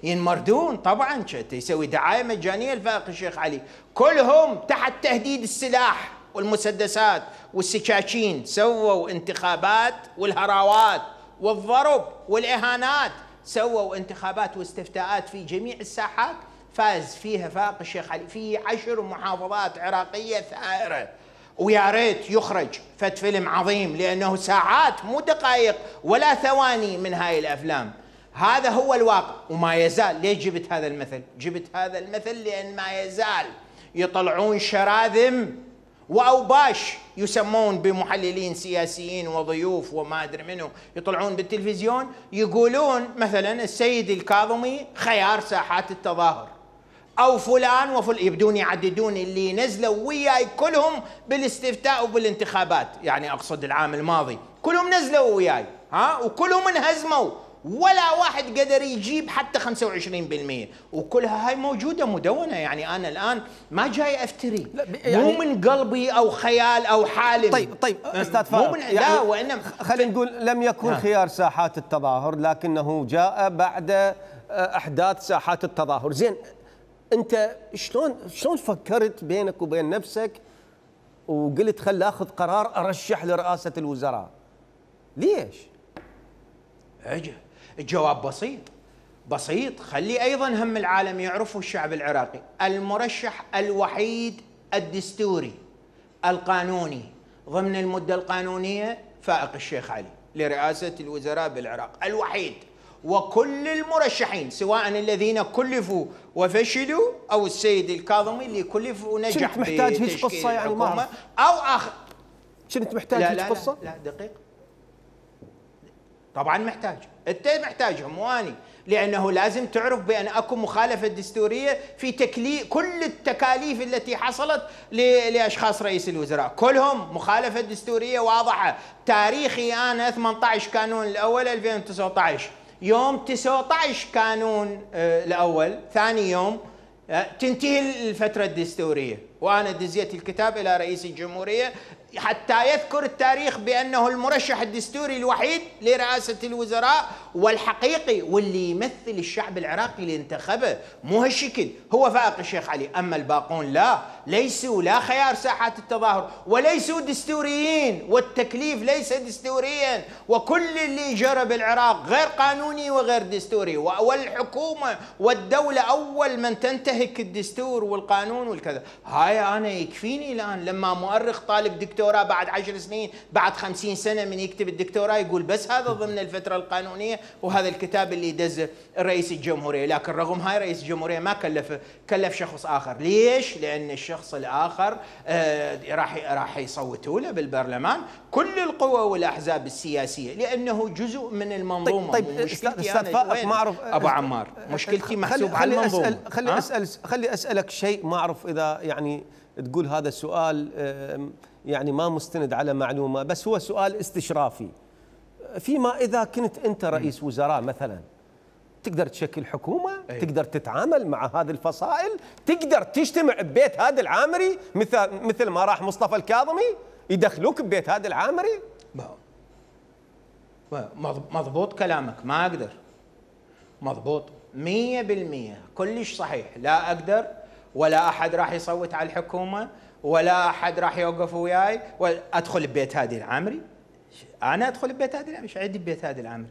ينمردون طبعا. يسوي دعاية مجانية لفائق الشيخ علي، كلهم تحت تهديد السلاح والمسدسات والسكاكين. سووا انتخابات والهراوات والضرب والإهانات، سووا انتخابات واستفتاءات في جميع الساحات فاز فيها فائق الشيخ علي في عشر محافظات عراقية ثائرة. ويا ريت يخرج فت فيلم عظيم، لأنه ساعات مو دقائق ولا ثواني من هاي الأفلام. هذا هو الواقع وما يزال. ليش جبت هذا المثل؟ جبت هذا المثل لأن ما يزال يطلعون شراذم وأوباش يسمون بمحللين سياسيين وضيوف وما أدري منه، يطلعون بالتلفزيون يقولون مثلا السيد الكاظمي خيار ساحات التظاهر، أو فلان وفلان، يبدون يعددون اللي نزلوا وياي كلهم بالاستفتاء وبالانتخابات، يعني أقصد العام الماضي كلهم نزلوا وياي ها، وكلهم انهزموا، ولا واحد قدر يجيب حتى خمسة وعشرين بالمئة، وكلها هاي موجودة مدونة. يعني أنا الآن ما جاي أفتري، يعني مو من قلبي أو خيال أو حالم. طيب طيب أستاذ فاروق، يعني لا وإنما خلينا نقول لم يكن ها. خيار ساحات التظاهر، لكنه جاء بعد أحداث ساحات التظاهر. زين، أنت شلون شلون فكرت بينك وبين نفسك وقلت خل آخذ قرار أرشح لرئاسة الوزراء؟ ليش؟ أجل الجواب بسيط بسيط. خلي أيضا هم العالم يعرفوا الشعب العراقي، المرشح الوحيد الدستوري القانوني ضمن المدة القانونية فائق الشيخ علي لرئاسة الوزراء بالعراق، الوحيد. وكل المرشحين سواء الذين كلفوا وفشلوا أو السيد الكاظمي اللي كلف ونجح كنت محتاج هيك قصة يعني ما أو آخر. كنت محتاج لا هيك لا قصة؟ لا, لا دقيق، طبعا محتاج، انت محتاجهم واني، لانه لازم تعرف بان اكو مخالفه دستوريه في تكليف كل التكاليف التي حصلت لاشخاص رئيس الوزراء، كلهم مخالفه دستوريه واضحه. تاريخي انا ثمانية عشر كانون الاول ألفين وتسعة عشر، يوم تسعة عشر كانون الاول ثاني يوم تنتهي الفتره الدستوريه، وانا دزيت الكتاب الى رئيس الجمهوريه حتى يذكر التاريخ بأنه المرشح الدستوري الوحيد لرئاسة الوزراء والحقيقي واللي يمثل الشعب العراقي اللي انتخبه، مو هالشكل هو فائق الشيخ علي. أما الباقون لا، ليسوا لا خيار ساحات التظاهر وليسوا دستوريين، والتكليف ليس دستوريا، وكل اللي جرى بالعراق غير قانوني وغير دستوري، والحكومة والدولة أول من تنتهك الدستور والقانون والكذا. هاي أنا يكفيني الآن لما مؤرخ طالب دكتور دكتوراه بعد عشر سنين بعد خمسين سنة من يكتب الدكتوراه يقول بس هذا ضمن الفترة القانونية، وهذا الكتاب اللي دزه رئيس الجمهورية. لكن رغم هاي رئيس الجمهورية ما كلفه، كلف شخص آخر. ليش؟ لأن الشخص الآخر آه راح راح يصوتوا له بالبرلمان كل القوى والأحزاب السياسية، لأنه جزء من المنظومة. طيب, طيب مشكلتي أستاذ فائق ما أعرف أبو عمار، مشكلتي محسوب على المنظومة. أسأل خلي أسأل خلي أسألك شيء، ما أعرف إذا يعني تقول هذا السؤال يعني ما مستند على معلومة، بس هو سؤال استشرافي. فيما إذا كنت أنت رئيس وزراء مثلا، تقدر تشكل حكومة؟ أيه. تقدر تتعامل مع هذه الفصائل؟ تقدر تجتمع ببيت هذا العامري مثل مثل ما راح مصطفى الكاظمي يدخلوك ببيت هذا العامري؟ مضبوط كلامك، ما أقدر. مضبوط مية بالمية، كلش صحيح. لا أقدر، ولا أحد راح يصوت على الحكومة، ولا أحد راح يوقف وياي وأدخل ببيت هادي العامري. أنا أدخل ببيت هادي العامري؟ إيش عندي ببيت هادي العامري؟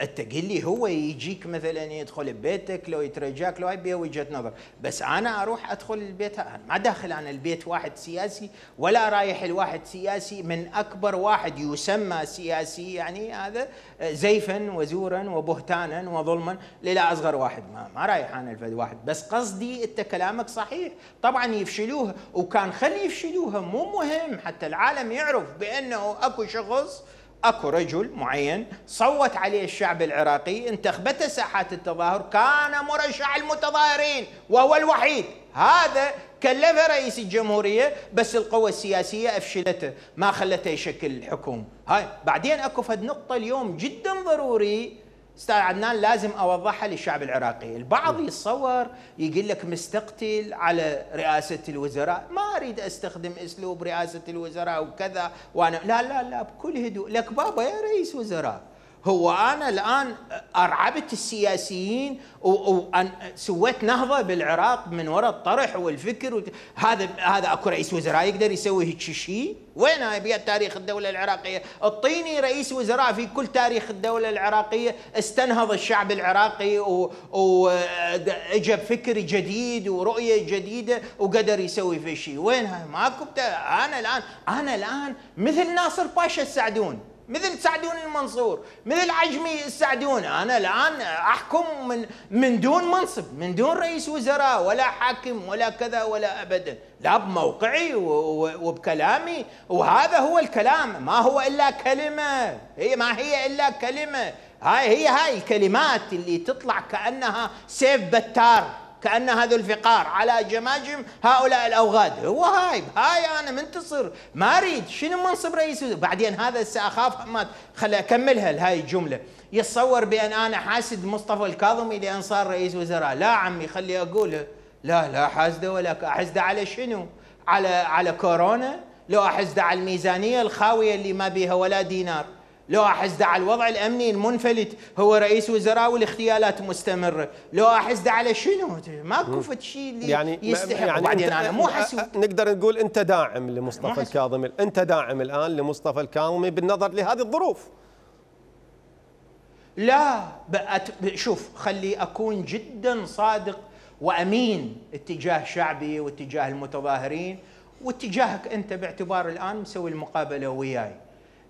أنت قل لي هو يجيك مثلا يدخل ببيتك لو يترجاك لو هاي بيه وجهة نظر، بس أنا أروح أدخل البيت، ما داخل أنا البيت واحد سياسي ولا رايح الواحد سياسي من أكبر واحد يسمى سياسي، يعني هذا زيفا وزورا وبهتانا وظلما للا أصغر واحد، ما, ما رايح أنا الفد واحد. بس قصدي أنت كلامك صحيح، طبعا يفشلوها، وكان خلي يفشلوها مو مهم حتى العالم يعرف بأنه أكو شخص اكو رجل معين صوت عليه الشعب العراقي، انتخبته ساحات التظاهر، كان مرشح المتظاهرين وهو الوحيد. هذا كلفه رئيس الجمهوريه، بس القوى السياسيه افشلته، ما خلته يشكل الحكومه. هاي بعدين اكو فد نقطه اليوم جدا ضروري استاذ عدنان لازم اوضحها للشعب العراقي. البعض يتصور يقول لك مستقتل على رئاسه الوزراء، ما اريد استخدم اسلوب رئاسه الوزراء وكذا، وانا لا لا لا بكل هدوء، لك بابا يا رئيس وزراء، هو انا الان ارعبت السياسيين وسويت نهضه بالعراق من وراء الطرح والفكر وت... هذا هذا اكو رئيس وزراء يقدر يسوي هيك شيء؟ وين هاي بيد تاريخ الدوله العراقيه؟ اعطيني رئيس وزراء في كل تاريخ الدوله العراقيه استنهض الشعب العراقي واجى بفكر جديد ورؤيه جديده وقدر يسوي في شيء. وين هاي؟ ماكو. انا الان انا الان مثل ناصر باشا السعدون، مثل سعدون المنصور، مثل عجمي السعدون، انا الان احكم من من دون منصب، من دون رئيس وزراء ولا حاكم ولا كذا ولا ابدا، لا بموقعي وبكلامي، وهذا هو الكلام، ما هو الا كلمه، هي ما هي الا كلمه، هاي هي هاي الكلمات اللي تطلع كانها سيف بتار، كأن هذا الفقار على جماجم هؤلاء الأوغاد. هو هاي هاي أنا منتصر، ما أريد شنو منصب رئيس وزراء. بعدين هذا سأخاف ما خلي أكملها هاي الجملة. يتصور بأن أنا حاسد مصطفى الكاظمي لأن صار رئيس وزراء. لا عمي خلي أقولها، لا لا حاسده ولا أحسده على شنو؟ على على كورونا؟ لو أحسده على الميزانية الخاوية اللي ما بيها ولا دينار، لو أحسده على الوضع الأمني المنفلت، هو رئيس وزراء والاغتيالات مستمرة، لو أحسده على شنو؟ ماكو فد شيء اللي يعني يستحق. يعني وبعدين أنا مو حسود. نقدر نقول أنت داعم لمصطفى الكاظمي، أنت داعم الآن لمصطفى الكاظمي بالنظر لهذه الظروف؟ لا شوف، خلي أكون جدا صادق وأمين اتجاه شعبي واتجاه المتظاهرين واتجاهك أنت، باعتبار الآن مسوي المقابلة وياي.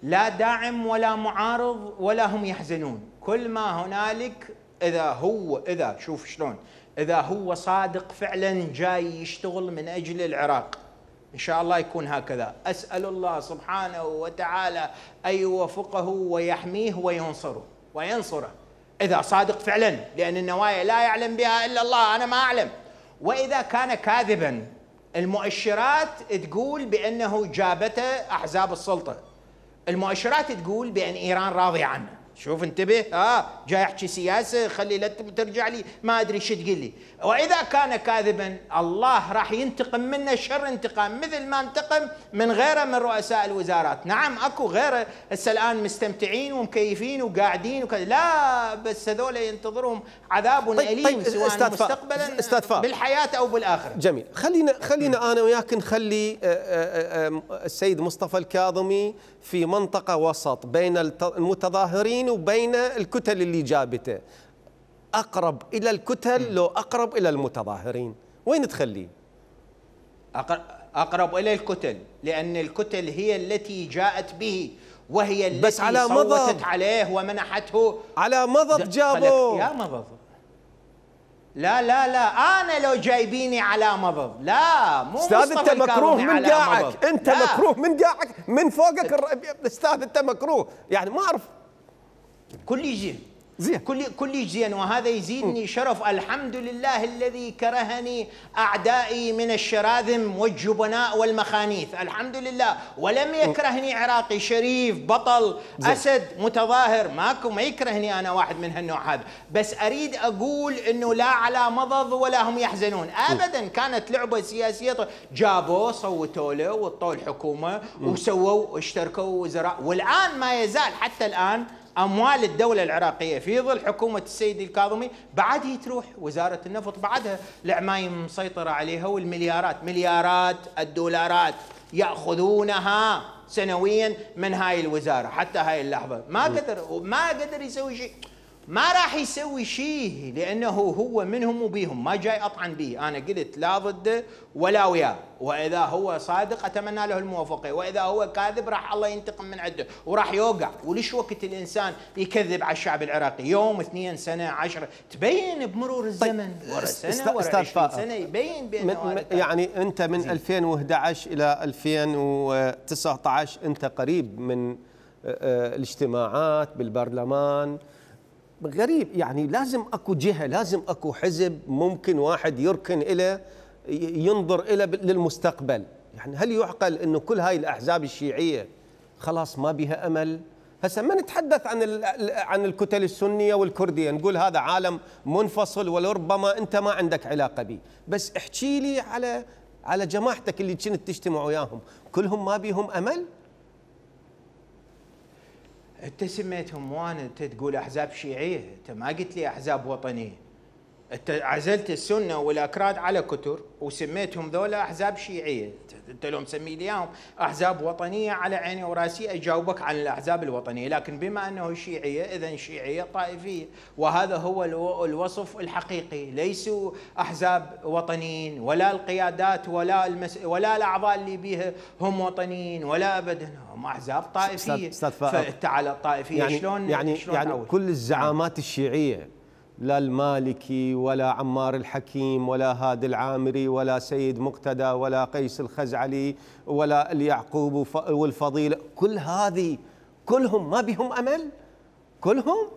لا داعم ولا معارض ولا هم يحزنون، كل ما هنالك إذا هو إذا شوف شلون، إذا هو صادق فعلا جاي يشتغل من أجل العراق إن شاء الله يكون هكذا. أسأل الله سبحانه وتعالى أن يوفقه ويحميه وينصره وينصره إذا صادق فعلا، لأن النوايا لا يعلم بها إلا الله، أنا ما أعلم. وإذا كان كاذبا، المؤشرات تقول بأنه جابته أحزاب السلطة، المؤشرات تقول بأن إيران راضية عنه. شوف انتبه، اه جاي يحكي سياسه، خلي لا ترجع لي ما ادري شو تقول لي. واذا كان كاذبا الله راح ينتقم منه شر انتقام، مثل ما انتقم من غيره من رؤساء الوزارات. نعم اكو غيره هسه الان مستمتعين ومكيفين وقاعدين وكذا، لا بس هذول ينتظرهم عذاب طيب اليم طيب سواء مستقبلا استاذ بالحياه او بالاخره. جميل، خلينا خلينا انا وياك نخلي السيد مصطفى الكاظمي في منطقه وسط بين المتظاهرين وبين الكتل اللي جابته. أقرب إلى الكتل لو أقرب إلى المتظاهرين، وين تخليه؟ أقرب إلى الكتل، لأن الكتل هي التي جاءت به، وهي التي بس على صوتت مضض عليه ومنحته. على مضض جابوه يا مضض. لا لا لا، أنا لو جايبيني على مضض، لا مو أستاذ أنت مكروه من قاعك، أنت لا. مكروه من قاعك من فوقك الر... أستاذ أنت مكروه، يعني ما أعرف. كل يجي زين كل كل زين، وهذا يزيدني شرف. الحمد لله الذي كرهني أعدائي من الشراذم والجبناء والمخانيث، الحمد لله، ولم يكرهني عراقي شريف بطل زي. أسد متظاهر، ماكو ما يكرهني أنا واحد من هالنوع هذا. بس أريد أقول إنه لا على مضض ولا هم يحزنون أبدا. كانت لعبة سياسية، جابوه صوتوا له وطوا الحكومة وسووا اشتركوا وزراء، والآن ما يزال حتى الآن أموال الدولة العراقية في ظل حكومة السيد الكاظمي بعد تروح وزارة النفط، بعدها العمايم مسيطرة عليها، والمليارات مليارات الدولارات يأخذونها سنويا من هاي الوزارة. حتى هاي اللحظة ما قدر ما قدر يسوي شيء، ما راح يسوي شيء، لأنه هو منهم وبيهم، ما جاي أطعن به. أنا قلت لا ضده ولا وياه، وإذا هو صادق أتمنى له الموافقة، وإذا هو كاذب راح الله ينتقم من عنده وراح يوقع. وليش وقت الإنسان يكذب على الشعب العراقي؟ يوم اثنين سنة عشرة، تبين بمرور الزمن. طيب ورا سنة ورا عشرين سنة يبين بأنه يعني أنت من ألفين وأحد عشر إلى ألفين وتسعة عشر أنت قريب من الاجتماعات بالبرلمان. غريب يعني، لازم اكو جهه، لازم اكو حزب ممكن واحد يركن إلى ينظر إلى للمستقبل. يعني هل يعقل انه كل هاي الاحزاب الشيعيه خلاص ما بها امل؟ هسه ما نتحدث عن عن الكتل السنيه والكرديه، نقول هذا عالم منفصل ولربما انت ما عندك علاقه به، بس احكي لي على على جماعتك اللي كنت تجتمع وياهم، كلهم ما بيهم امل؟ انت سميتهم وانا انت تقول احزاب شيعيه، انت ما قلت لي احزاب وطنيه. انت عزلت السنه والاكراد على كتر وسميتهم ذولا احزاب شيعيه، انت لو مسمي لي اياهم احزاب وطنيه على عيني وراسي اجاوبك عن الاحزاب الوطنيه، لكن بما انه شيعيه اذا شيعيه طائفيه، وهذا هو الوصف الحقيقي. ليسوا احزاب وطنيين ولا القيادات ولا المس... ولا الاعضاء اللي بيها هم وطنيين ولا ابدا، هم احزاب طائفيه. فانت على الطائفيه يعني شلون يعني شلون يعني أول؟ كل الزعامات الشيعيه، لا المالكي ولا عمار الحكيم ولا هادي العامري ولا سيد مقتدى ولا قيس الخزعلي ولا اليعقوب والفضيل، كل هذه كلهم ما بهم امل؟ كلهم؟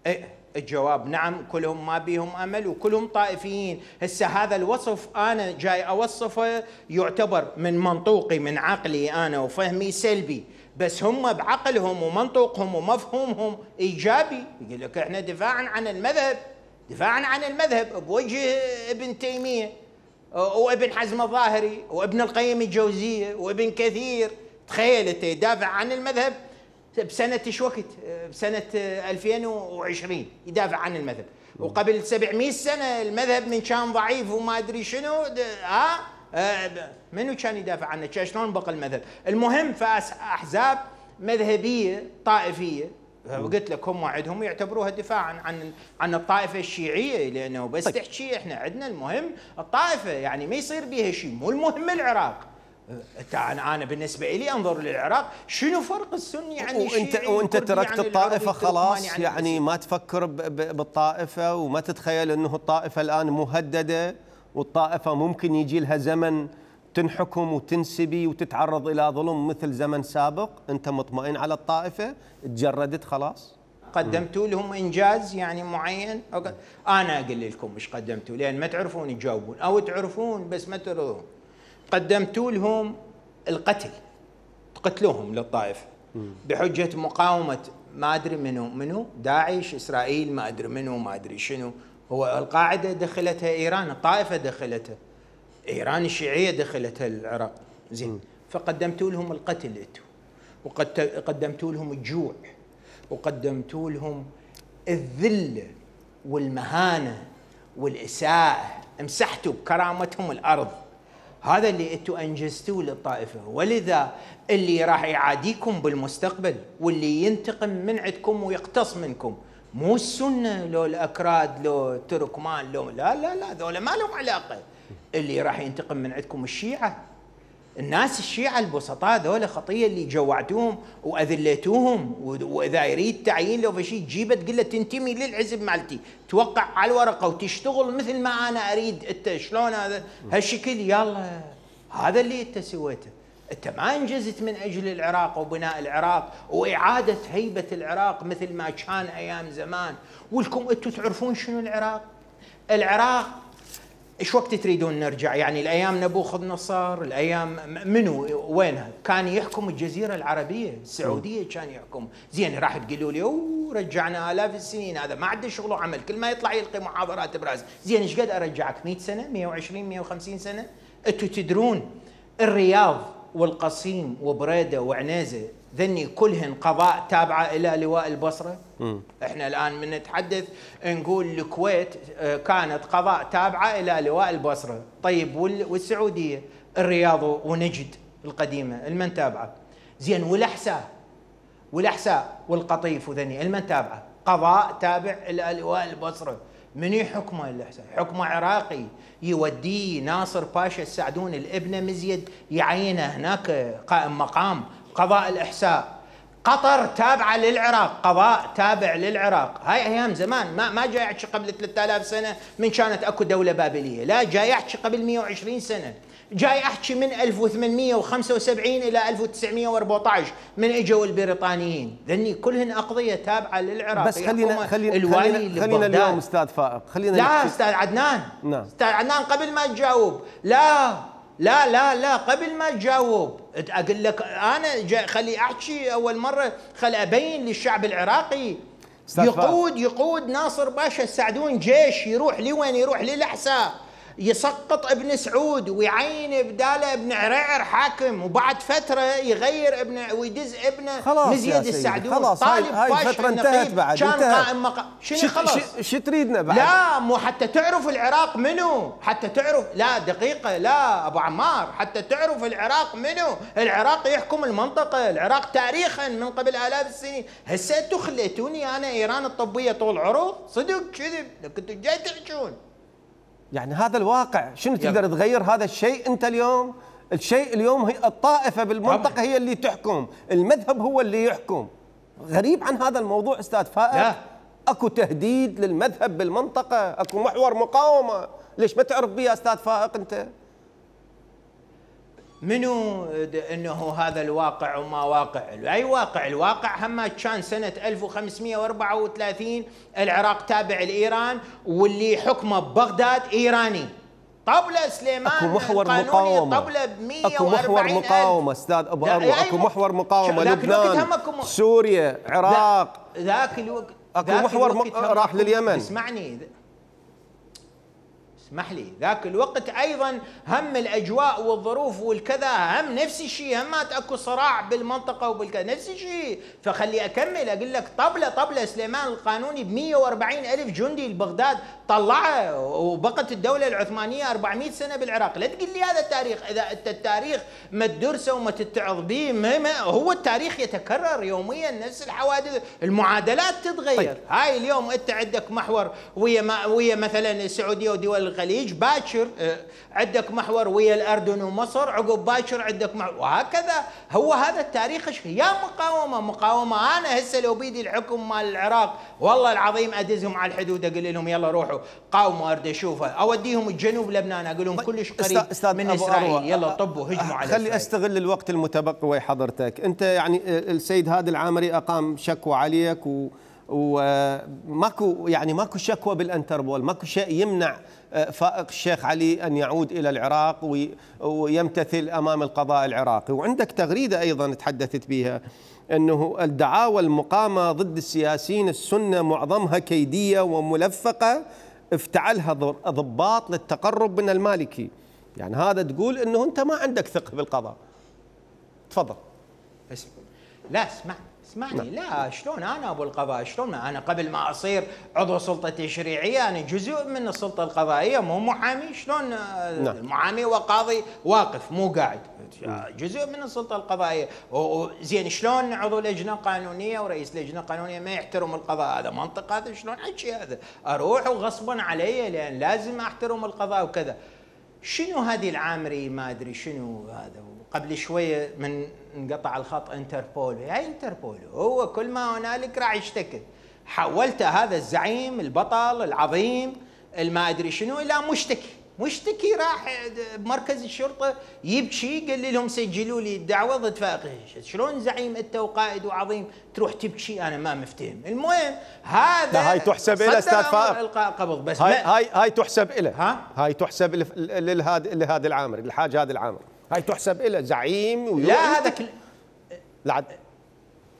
إيه الجواب نعم، كلهم ما بيهم امل وكلهم طائفيين. هسه هذا الوصف انا جاي اوصفه يعتبر من منطوقي من عقلي انا وفهمي سلبي، بس هم بعقلهم ومنطقهم ومفهومهم ايجابي. يقول لك احنا دفاعا عن المذهب، دفاعا عن المذهب بوجه ابن تيميه وابن حزم الظاهري وابن القيم الجوزيه وابن كثير. تخيل انت يدافع عن المذهب بسنه ايش وقت؟ بسنه ألفين وعشرين يدافع عن المذهب، وقبل سبعمئة سنه المذهب من كان ضعيف وما ادري شنو ها أه منو كان يدافع عنه؟ كان شلون بقى المذهب؟ المهم فاحزاب مذهبيه طائفيه، وقلت لك هم عندهم يعتبروها دفاعا عن عن الطائفه الشيعيه، لانه بس طيب. تحكي احنا عندنا المهم الطائفه، يعني ما يصير بها شيء، مو المهم العراق. انا انا بالنسبه لي انظر للعراق شنو فرق السني عن الشيعي؟ وانت وانت تركت الطائفه خلاص، يعني, يعني ما تفكر بالطائفه وما تتخيل انه الطائفه الان مهدده، والطائفة ممكن يجي لها زمن تنحكم وتنسبي وتتعرض إلى ظلم مثل زمن سابق؟ أنت مطمئن على الطائفة؟ تجردت خلاص؟ قدمتوا لهم إنجاز يعني معين؟ أنا أقول لكم مش قدمتوا، لأن ما تعرفون تجاوبون، أو تعرفون بس ما ترضون. قدمتوا لهم القتل، قتلوهم للطائفة بحجة مقاومة ما أدري منو منو داعش، إسرائيل، ما أدري منو، ما أدري شنو. هو القاعدة دخلتها إيران، الطائفة دخلتها إيران، الشيعية دخلتها العراق. زين، فقدمتوا لهم القتل انتم، وقدمتوا لهم الجوع، وقدمتوا لهم الذلة والمهانة والإساءة، مسحتوا بكرامتهم الأرض. هذا اللي انتم انجزتوه للطائفة، ولذا اللي راح يعاديكم بالمستقبل واللي ينتقم من عندكم ويقتص منكم مو السنة لو الأكراد لو التركمان لو لا لا لا ذولا ما لهم علاقة. اللي راح ينتقم من عندكم الشيعة، الناس الشيعة البسطاء ذولا خطية اللي جوعتوهم وأذليتوهم. وإذا يريد تعيين لو فشي تجيبه تقول له تنتمي للحزب مالتي، توقع على الورقة وتشتغل مثل ما أنا أريد. أنت شلون هذا هالشكل؟ يلا هذا اللي أنت سويته. أنت ما أنجزت من أجل العراق وبناء العراق وإعادة هيبة العراق مثل ما كان أيام زمان. ولكم أنتم تعرفون شنو العراق؟ العراق إيش وقت تريدون نرجع؟ يعني الأيام نبوخذ نصر، الأيام منو وينها؟ كان يحكم الجزيرة العربية، السعودية كان يحكم. زين راح تقولوا لي أوه رجعنا آلاف السنين، هذا ما عنده شغل وعمل، كل ما يطلع يلقي محاضرات براسه. زين إيش قد أرجعك؟ مئة سنة، مئة وعشرين، مئة وخمسين سنة؟ أنتم تدرون الرياض والقصيم وبريدة وعنيزة ذني كلهن قضاء تابعة إلى لواء البصرة. م. إحنا الآن من نتحدث نقول الكويت كانت قضاء تابعة إلى لواء البصرة. طيب والسعودية الرياض ونجد القديمة المن تابعة؟ زين والأحساء والأحساء والقطيف وذني المن تابعة؟ قضاء تابع إلى لواء البصرة. من يحكمه الأحساء؟ حكمه عراقي، يوديه ناصر باشا السعدون الابن مزيد يعينه هناك قائم مقام قضاء الإحساء. قطر تابعة للعراق، قضاء تابع للعراق. هاي أيام زمان، ما ما جاي أحكي قبل ثلاثة آلاف سنة من كانت أكو دولة بابلية، لا جاي أحكي قبل مئة وعشرين سنة. جاي احكي من ألف وثمانمئة وخمسة وسبعين الى ألف وتسعمئة وأربعة عشر من اجوا البريطانيين، ذني كلهن اقضيه تابعه للعراق. بس خلينا خلينا الوالي خلينا, خلينا اليوم استاذ فائق، خلينا لا استاذ عدنان، نعم استاذ عدنان قبل ما تجاوب، لا لا لا لا قبل ما تجاوب اقول لك انا خلي احكي اول مره، خلي ابين للشعب العراقي. يقود يقود ناصر باشا السعدون جيش يروح لوين؟ يروح للأحساء، يسقط ابن سعود ويعين بداله ابن عريعر حاكم، وبعد فتره يغير ابن ويدز ابنه مزيد السعدون. خلاص هاي هاي الفتره انتهت بعد، كان قائم مقام. شنو خلاص؟ شو تريدنا بعد؟ لا مو حتى تعرف العراق منو، حتى تعرف، لا دقيقه، لا ابو عمار، حتى تعرف العراق منو. العراق يحكم المنطقه، العراق تاريخا من قبل آلاف السنين. هسه انتم خليتوني انا ايران الطبيه طول عروض، صدق كذب كنتوا جاي تحجون. يعني هذا الواقع، شنو تقدر تغير هذا الشيء انت اليوم؟ الشيء اليوم هي الطائفه بالمنطقه هي اللي تحكم، المذهب هو اللي يحكم. غريب عن هذا الموضوع استاذ فائق. لا. اكو تهديد للمذهب بالمنطقه، اكو محور مقاومه، ليش ما تعرف بيه استاذ فائق انت؟ منو انه هذا الواقع وما واقع؟ اي واقع؟ الواقع هم كان سنه ألف وخمسمئة وأربعة وثلاثين العراق تابع لايران، واللي حكمه ببغداد ايراني. طبله سليمان اكو محور مقاومه، طبله ب مئة وأربعين اكو محور مقاومه استاذ ابو اروى، اكو محور مقاومه، لبنان، سوريا، عراق، ذاك الوقت اكو محور م... راح لليمن. اسمعني اسمح لي، ذاك الوقت ايضا هم الاجواء والظروف والكذا هم نفس الشيء، هم اكو صراع بالمنطقه وبالكذا نفس الشيء. فخلي اكمل اقول لك طبله طبله سليمان القانوني ب مئة وأربعين ألف جندي لبغداد طلعه، وبقت الدوله العثمانيه أربعمئة سنه بالعراق. لا تقول لي هذا التاريخ، اذا انت التاريخ ما تدرسه وما تتعظ به، ما هو التاريخ يتكرر يوميا، نفس الحوادث، المعادلات تتغير. طيب. هاي اليوم انت عندك محور ويا ما ويا مثلا السعوديه ودول الخليج، باكر عندك محور ويا الاردن ومصر، عقب باكر عندك محور، وهكذا. هو هذا التاريخ. يا مقاومه مقاومه. انا هسه لو بيدي الحكم مال العراق والله العظيم ادزهم على الحدود، اقول لهم يلا روحوا قاوموا، اريد اشوفها، اوديهم الجنوب لبنان، اقول لهم كلش قريب من اسرائيل، يلا طبوا هجموا على خلي استغل الوقت المتبقي ويا حضرتك. انت يعني السيد هادي العامري اقام شكوى عليك، و وماكو يعني ماكو شكوى بالانتربول، ماكو شيء يمنع فائق الشيخ علي ان يعود الى العراق ويمتثل امام القضاء العراقي. وعندك تغريده ايضا تحدثت بها انه الدعاوى المقامه ضد السياسيين السنه معظمها كيديه وملفقه افتعلها ضباط للتقرب من المالكي. يعني هذا تقول انه انت ما عندك ثقه بالقضاء. تفضل. لا اسمع اسمعني، لا شلون انا ابو القضاء؟ شلون انا قبل ما اصير عضو سلطه تشريعيه انا جزء من السلطه القضائيه، مو محامي؟ شلون المحامي وقاضي واقف مو قاعد، جزء من السلطه القضائيه. زين شلون عضو لجنه قانونيه ورئيس لجنه قانونيه ما يحترم القضاء؟ هذا منطق؟ هذا شلون حكي هذا؟ اروح وغصبا علي لان لازم احترم القضاء وكذا. شنو هذه العامري ما ادري شنو هذا؟ قبل شويه من انقطع الخط انتربول، هاي انتربول هو كل ما هنالك راح يشتكي. حولت هذا الزعيم البطل العظيم الما ادري شنو الى مشتكي، مشتكي راح بمركز الشرطه يبكي، قال لهم سجلوا لي الدعوه ضد فائق. شلون زعيم انت وقائد وعظيم تروح تبكي؟ انا ما مفتهم. المهم هذا هاي تحسب له استاذ فائق، القاء قبض بس هاي هاي هاي تحسب له، ها هاي تحسب لهذا لهذا العامري، الحاج هذا العامري، هاي تحسب له زعيم. لا هذا كل... لا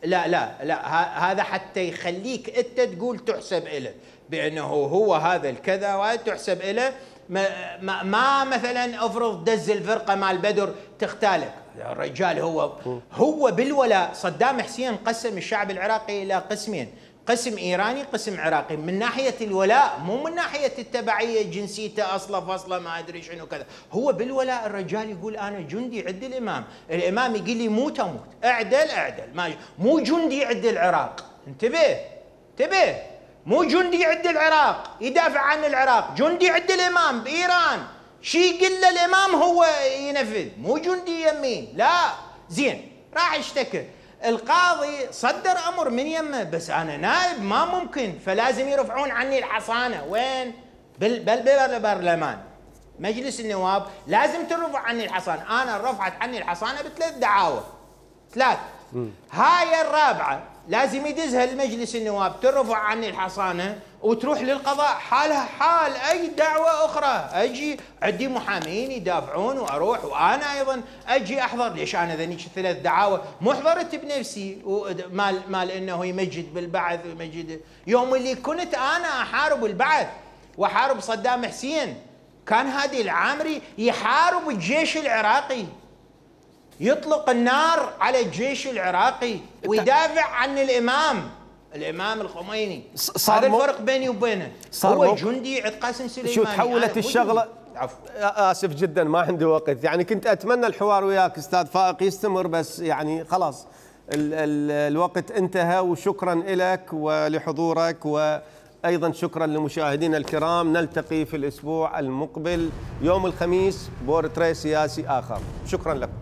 لا لا لا هذا حتى يخليك انت تقول تحسب له بانه هو هذا الكذا، وهذا تحسب له. ما, ما, ما مثلا افرض دز الفرقه مال بدر تختالك، الرجال هو هو بالولاء. صدام حسين قسم الشعب العراقي الى قسمين، قسم ايراني قسم عراقي، من ناحيه الولاء مو من ناحيه التبعيه، جنسيته اصله فصله ما ادري شنو كذا. هو بالولاء الرجال يقول انا جندي عد الامام، الامام يقول لي موت اموت، اعدل اعدل، ما مو جندي عد العراق. انتبه انتبه، مو جندي عد العراق يدافع عن العراق، جندي عد الامام بايران، شي يقول له الامام هو ينفذ، مو جندي يمين. لا زين راح اشتكي، القاضي صدر امر من يمه، بس انا نائب ما ممكن، فلازم يرفعون عني الحصانه. وين؟ بالبرلمان. مجلس النواب لازم ترفع عني الحصانه، انا رفعت عني الحصانه بثلاث دعاوى ثلاث. هاي الرابعه لازم يدزها لمجلس النواب ترفع عني الحصانه وتروح للقضاء حالها حال اي دعوه اخرى. اجي عندي محامين يدافعون واروح وانا ايضا اجي احضر. ليش انا ذنيك ثلاث دعاوى مو حضرت بنفسي مال مال انه يمجد بالبعث ويمجد. يوم اللي كنت انا احارب البعث واحارب صدام حسين كان هادي العامري يحارب الجيش العراقي، يطلق النار على الجيش العراقي ويدافع عن الامام الامام الخميني. هذا الفرق بيني وبينه. هو جندي عند قاسم سليماني. شو تحولت الشغله؟ عفوا اسف جدا ما عندي وقت، يعني كنت اتمنى الحوار وياك استاذ فائق يستمر بس يعني خلاص ال ال الوقت انتهى. وشكرا لك ولحضورك، وايضا شكرا لمشاهدينا الكرام. نلتقي في الاسبوع المقبل يوم الخميس بورتريه سياسي اخر. شكرا لكم.